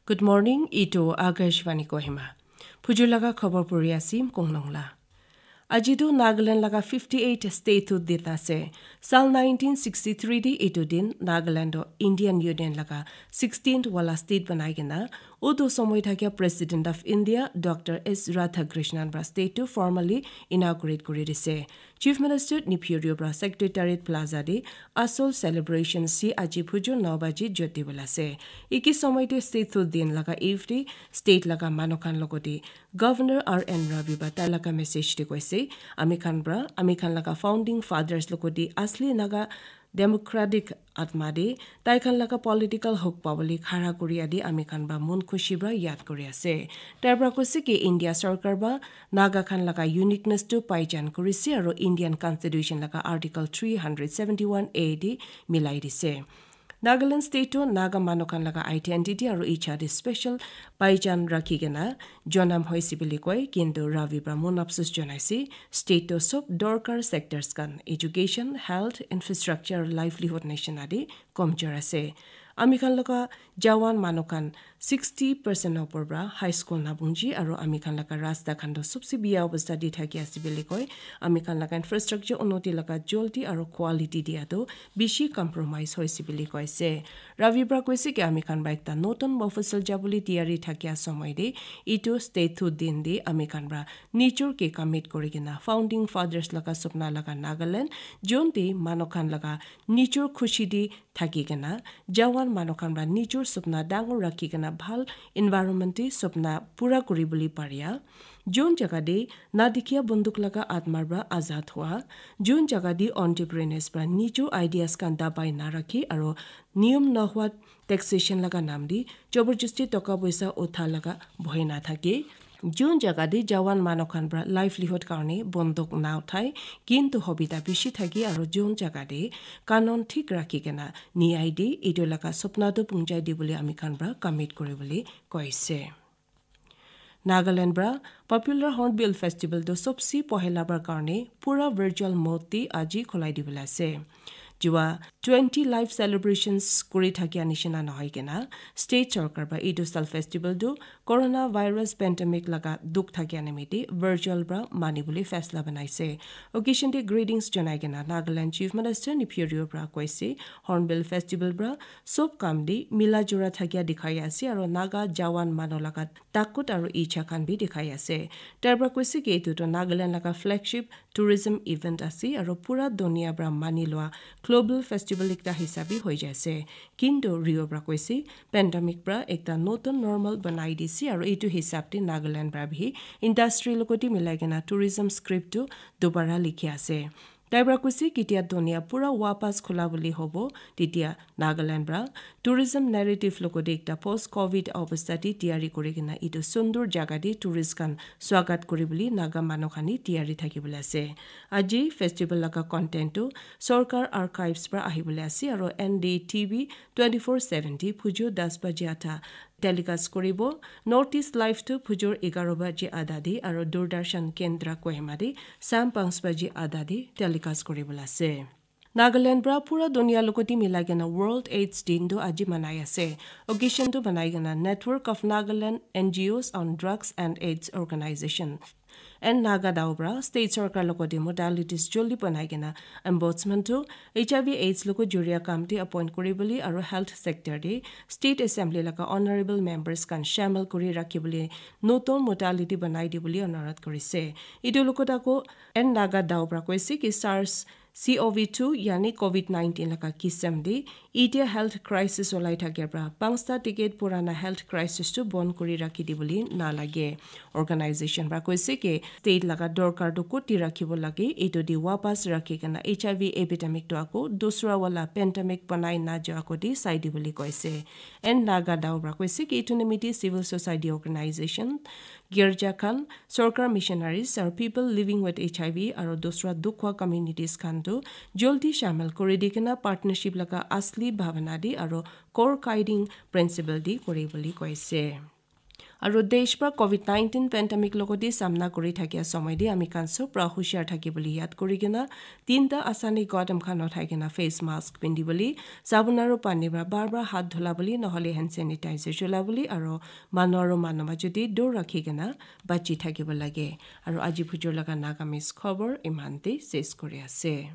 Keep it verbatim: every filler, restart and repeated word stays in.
Good morning, itu Akashvani Kohima. Phujur laga khobor puri asim Konglong la. Aji tu Nagaland laga fifty eight statehood din ase. Sal nineteen sixty three di itu din Nagaland to Indian Union laga sixteenth wala state banai kena, utu somoi thakia President of India Doctor S Radhakrishnan pra state tu formally inaugurate kuri dise. Chief Minister Neiphiu Rio pra Secretariat Plaza de asol celebration si aji phujur nine baji jyoti bola ase. Iki somoi te statehood din laga eve de state laga manu khan logote Governor R N Ravi pra tai laga message de koise, ami khan pra, ami khan laga founding fathers logote asli Naga democratic atma de tai khan laga political hok pabole khara kuri adi ami khan pra mon khushi pra yad kuri ase. Tai pra koise ki India sarkar pra Naga khan laga uniqueness tu paijan kurise aro Indian Constitution laga Article three hundred seventy one A de milai dise. Nagaland state tu Naga manu khan laga identity aro icha de special paijan rakhi kena jonam hoise bili koi, kintu Ravi pra mon apsus jonaise, state tu sob dorkar sectors khan, education, health, infrastructure, livelihood nishina de komjor ase. Ami khan laga jawan manu khan sixty percent opor pra high school nabungji aro ami khan laga rasta khan tu sobse biya obostha de thaki ase bili koi. Ami khan laga infrastructure unnoti laga joldi aro quality dia tu bishi compromise hoise bili koise. Ravi pra koise ki ami khan pra ekta notun Mofussil jabole tiyari thakia somoi de itu statehood din de ami khan pra nijor ke commit kuri kena founding fathers laga supna laga Nagaland, jun de manu khan laga nijor khushi de thaki kena, jawan manu khan pra nijor supna dangor rakhi kena bhal environment de supna pura kuri bole paria. Jun jaga de na dikhiya bunduk laga atmar pra azad hua, jun jaga de entrepreneurs pra nijor ideas khan dabai na rakhi aro niyom nohwa taxation laga nam de joborjosti toka poisa utha laga bhoi na thake. Jun jaga de jawan manu khan pra livelihood karne bondok na uthai, kintu hobita bishi thake aro jun jaga de kanon thik rakhi kena niyai de itu laga supna tu pungjai de bole ami khan pra commit kuri bole koise. Nagaland pra popular Hornbill Festival tu sobse pohela bar karne pura virtual mode de aji khulai dibole ase. Jua twenty live celebrations kuri thakia nishina nohoi kena, state sarkar pra itu sal festival tu coronavirus pandemic laga dukh thakia nimite virtual pra mani bole faisla banaise. Occasion de greetings janai kena Nagaland Chief Minister Neiphiu Rio pra koise, Hornbill Festival pra sob kam de mila jura thakia dikhai ase aro Naga jawan manu laga takut aro icha khan bi dikhai ase. Tai pra koise ki itu tu Nagaland laga flagship tourism event ase aro pura dunia pra mani lua global festival ekta hisabe hoi jai ase. Kintu Rio pra koise, pandemic pra ekta notun normal banai dise aro itu hisab de Nagaland pra bi industry logote milai kena tourism script tu dobara likhi ase. Tai pra koise, ketia dunia pura wapas khula bole hobo, tetia Nagaland pra tourism narrative logote ekta post covid obostha de tiyari kuri kena itu sundur jaga de tourist khan swagat kuri bole Naga manu khan de tiyari thaki bole ase. Aji festival laga content tu sorkar archives pra ahi bole ase aro N D T V twenty four seven de phujur das baji atha telecast kuribo. North East Live tu phujur egaro baji adha de aro Doordarshan Kendra Kohima de sam panch baji adha de telecast kuri bole ase. Nagaland pra pura dunia logote milai kena World AIDS Din tu aji manai ase. Occasion tu banai kena Network of Nagaland N G Os on Drugs and AIDS Organization and Naga Dao pra state sarkar logote modalities joldi banai kena ombudsman tu H I V AIDS logo juria kam de appoint kuri bole aro health sector de state assembly laga honorable members khan shamil kuri rakhi bole notun modality banai de bole onurodh kurise. Itu logot ako N Naga Dao pra koise ki SARS C O V two yani covid nineteen laga kisam de itia health crisis olai thake pra panchta decade purana health crisis tu bon kuri rakhi dibole na lage. Organization pra koise ki state laga dorkar tu koti rakhibo lage, itu de wapas rakhi kena H I V epidemic tu ako dusra wala pandemic banai na ja ako de sai dibole koise. And Naga Dao pra koise ki itu nimite civil society organization, girja khan, sorkar missionaries, aru people living with H I V aru dusra dukh hwa communities khan tu joldi shamil kuri di kena partnership laga asli bhavana di aru core guiding principle di kuri bole koise. Aru desh pra covid nineteen pandemic logoti samna kuri thakia somoi te ami khan sob pra hushar thaki bole yad kuri kena tinta asani qadam khan uthai kena face mask pindi bole, sabun aru pani pra bar bar hath dhula bole, nohole hand sanitizer chula bole, aru manu aru manu majo te dur rakhi kena bachi thakibo lage. Aru aji bujur laga Nagamese khobor iman te ses kuri ase.